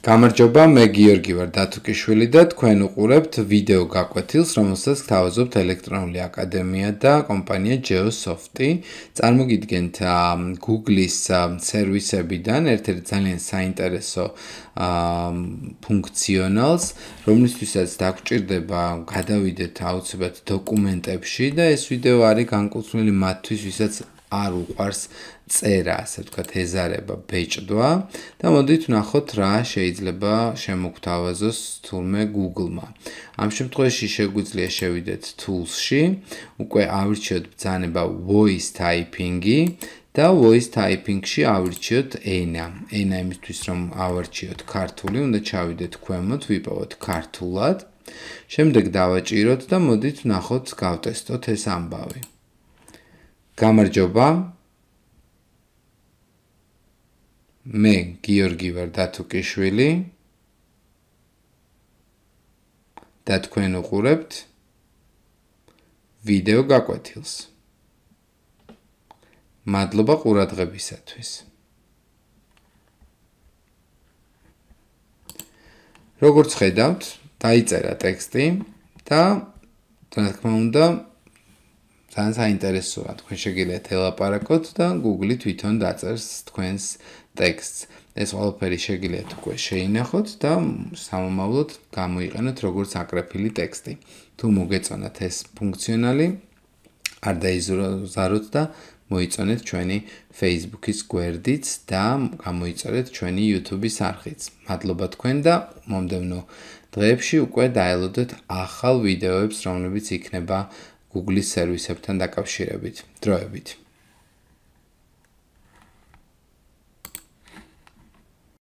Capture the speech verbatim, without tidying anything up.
გამარჯობა, მე გიორგი ვარ დათუკიშვილი და თქვენ უყურებთ ვიდეო გაკვეთილს, რომელსაც გთავაზობთ ელექტრონული აკადემია და კომპანია Geosoft-ი. წარმოგიდგენთ Google-ის სერვისებიდან ერთ-ერთ ძალიან საინტერესო ფუნქციონალს, რომლისთვისაც დაგჭირდება გადავიდეთ აუცილებლად დოკუმენტებში და ეს ვიდეო არის განკუთვნილი მათთვის, ვისაც არ უყვარს წერა, ასე ვთქვათ, ეზარება ბეჭდვა და მოდით ვნახოთ რა შეიძლება შემოგთავაზოს თურმე Google-მა. ამ შემთხვევაში შეგვიძლია შევიდეთ Tools-ში, უკვე ავირჩიოთ ბრძანება Voice Typing-ი და Voice Typing-ში ავირჩიოთ ენა. ენა იმისთვის რომ ავარჩიოთ ქართული, უნდა ჩავიდეთ ქვემოთ, ვიპოვოთ ქართულად. შემდეგ დავაჭიროთ და მოდით ვნახოთ გავტესტოთ ეს ამბავი. გამარჯობა. მე გიორგი ვარ დათუკიშვილი და თქვენ უყურებთ ვიდეო გაკვეთილს. მადლობა ყურადღებისათვის. როგორც ხედავთ, დაიწერა ტექსტი და რა თქმა უნდა ძალიან საინტერესოა, თქვენ შეგიძლიათ ელაპარაკოთ და Google-ი თვითონ დაწერს თქვენს ტექსტს. ეს ყველაფერი შეგიძლიათ უკვე შეინახოთ და სამომავლოდ გამოიყენოთ როგორც აკრეფილი ტექსტი. თუ მოგეწონათ ეს ფუნქციონალი, არ დაიზაროთ და მოიწონეთ ჩვენი Facebook-ის გვერდიც და გამოიწერეთ ჩვენი YouTube-ის არხიც. მადლობა თქვენ და მომდევნო დღეებში უკვე დაელოდეთ ახალ ვიდეოებს, რომლებიც იქნება Google-ის სერვისებთან დაკავშირებით. დროებით.